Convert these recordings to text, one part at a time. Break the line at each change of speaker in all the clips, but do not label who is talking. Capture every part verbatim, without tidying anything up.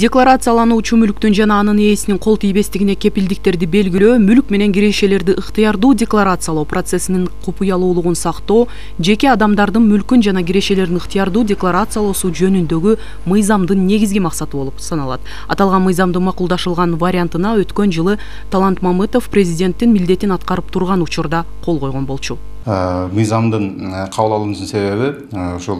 Декларациялануучу мүлктүн жана анын ээсинин кол тийбестигине кепилдиктерди белгилөө, мүлк менен кирешелерди ыктыярдуу декларациялоо процессинин купуялуулугун сактоо, жеке адамдардын мүлкүн жана кирешелерин ыктыярдуу декларациялоосу жөнүндөгү мыйзамдын негизги максаты болуп саналат. Аталган мыйзамдын макулдашылган вариантына өткөн жылы Талант Мамытов президенттин милдетин аткарып турган учурда кол койгон болчу.
Мыйзамдын кабыл алуунун себеби ушул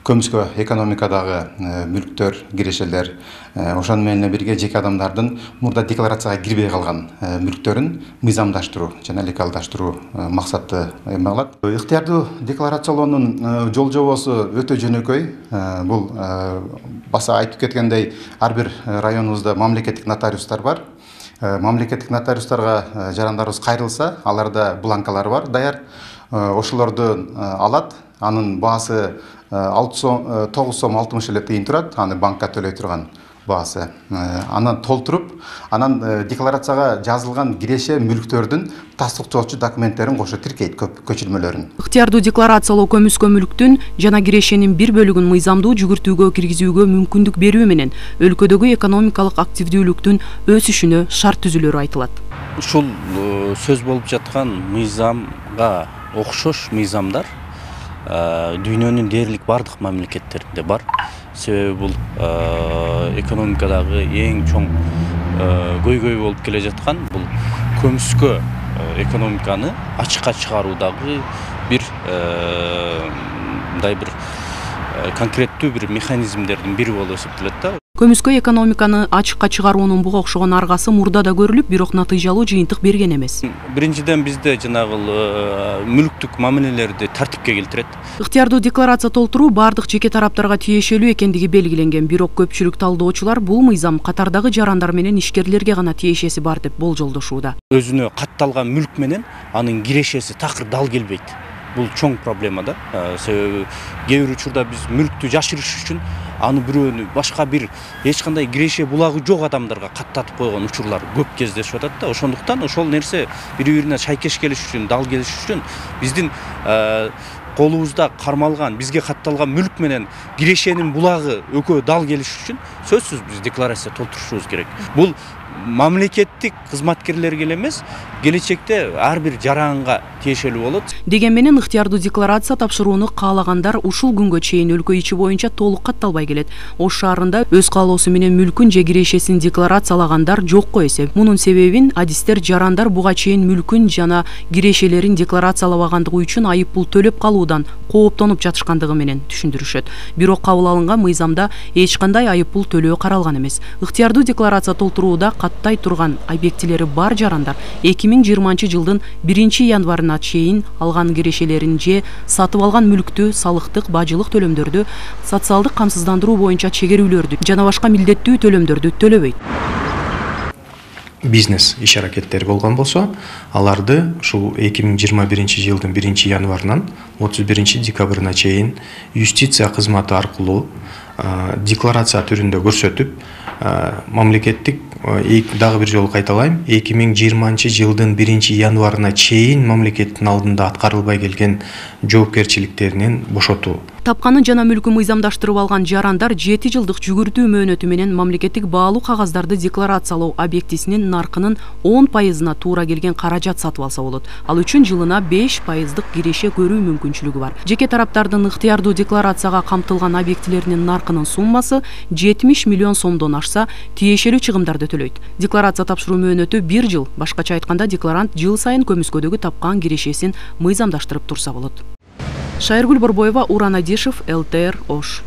көмүскө экономикадагы мүлктөр, кирешелер, ошону менен бирге жеке адамдардын мурда декларацияга кирбей калган мүлктөрүн мыйзамдаштыруу жана легалдаштыруу максаты эме кылат. Ыктыярдуу декларациялоонун жол жобосу өтө жөнөкөй. Бул баса айтып кеткендей, ар бир районубузда мамлекеттик нотариустар бар. Мамлекеттик нотариустарга жарандарыбыз кайрылса, аларда бланкалар бар даяр. Ошолорду алат. Анын баасы тогуз сом алтымыш эле тыйын турат. Аны банкка төлөй турган баасы. Анан толтуруп, анан декларацияга жазылган киреше мүлктөрдүн тастыктоочу документтерин кошо тиркейт, көчүрмөлөрүн.
Ыктыярдуу декларациялоо көмүскө мүлктүн жана кирешенин бир бөлүгүн мыйзамдуу жүгүртүүгө киргизүүгө мүмкүндүк берүү менен өлкөдөгү экономикалык активдүүлүктүн өсүшүнө шарт түзүлөрү айтылат.
Ушул сөз болуп жаткан мыйзамга окшош мыйзамдар дүйнөнүн дээрлик бардык мамлекеттеринде бар. Себеби бул экономикадагы эң чоң көйгөй болуп келе жаткан бул көмүскө экономиканы ачыкка чыгаруудагы бир мындай бир конкреттүү бир механизмдердин бири болуп эсептелет да.
Көмүскө экономиканы ачыкка чыгаруунун буга окшогон аргасы мурда да көрүлүп, бирок натыйжалуу жыйынтык берген эмес.
Биринчиден бизде жанагы мүлктүк мамилелерди тартипке келтирет.
Ыктыярдуу декларация толтуруу бардык жеке тараптарга тиешелүү экендиги белгиленген, бирок көпчүлүк талдоочулар бул мыйзам катардагы жарандар менен ишкерлерге гана тиешеси бар деп болжолдошууда.
Өзүнө катталган мүлк менен анын кирешеси такыр дал келбейт. Бул чоң проблема да. Себеби кээ бир учурда биз мүлктү жашырыш үчүн аны бирөөнү башка бир эч кандай киреше булагы жок адамдарга каттатып койгон учурлар көп кездешип атат да. Ошондуктан ошол нерсе бири-бирине шайкеш келиш үчүн, дал келиш үчүн биздин колубузда кармалган, бизге катталган мүлк менен кирешенин булагы экөө дал келиш үчүн сөзсүз биз декларация толтурушубуз керек. Бул мамлекеттик кызматкерлерге эле эмес, келечекте ар бир жаранга тиешелүү болот.
Деген менен ыктыярдуу декларация тапшырууну каалагандар ушул күнгө чейин өлкө ичи боюнча толук катталбай келет. Ош шаарында өз каалоосу менен мүлкүн же кирешесин декларациялагандар жокко эсеп. Мунун себебин адистер жарандар буга чейин мүлкүн жана кирешелерин декларациялабагандыгы үчүн айып пул төлөп калуудан кооптонуп жатышкандыгы менен түшүндүрүшөт. Бирок кабыл алынган мыйзамда эч кандай айып пул төлөө каралган эмес. Ыктыярдуу декларация толтурууда каттай турган объектилери бар жарандар эки миң жыйырманчы жылдын биринчи январына чейин алган кирешелерин же сатып алган мүлктү, салыктык, бажылык төлөмдөрдү, социалдык камсыздандыруу боюнча чегерүүлөрдү жана башка милдеттүү төлөмдөрдү төлөбөйт.
Бизнес иш аракеттери болгон болсо, аларды ушул эки миң жыйырма биринчи жылдын биринчи январынан отуз биринчи декабрына чейин юстиция кызматы аркылуу декларация түрүндө көрсөтүп, мамлекеттик дагы бир жолу кайталайм, эки миң жыйырманчы жылдын биринчи январына чейин мамлекеттин алдында аткарылбай келген жоопкерчиликтеринен бошотуу.
Тапканын жана мүлкүн мыйзамдаштырып алган жарандар жети жылдык жүгүртүү мөөнөтү менен мамлекеттик баалуу кагаздарды декларациялоо объектисинин наркынын он пайызына туура келген каражат сатып алса болот. Ал үчүн жылына беш пайыздык киреше көрүү мүмкүнчүлүгү бар. Жеке тараптардын ыктыярдуу декларацияга камтылган объектилеринин наркынын суммасы жетимиш миллион сомдон ашса, тиешелүү чыгымдарды төлөйт. Декларация тапшыруу мөөнөтү бир жыл. Башкача айтканда, декларант жыл сайын көмүскөдөгү тапкан кирешесин мыйзамдаштырып турса болот. Шайыргүл Борбоева, Уран Адишев, эл тэ эр Ош.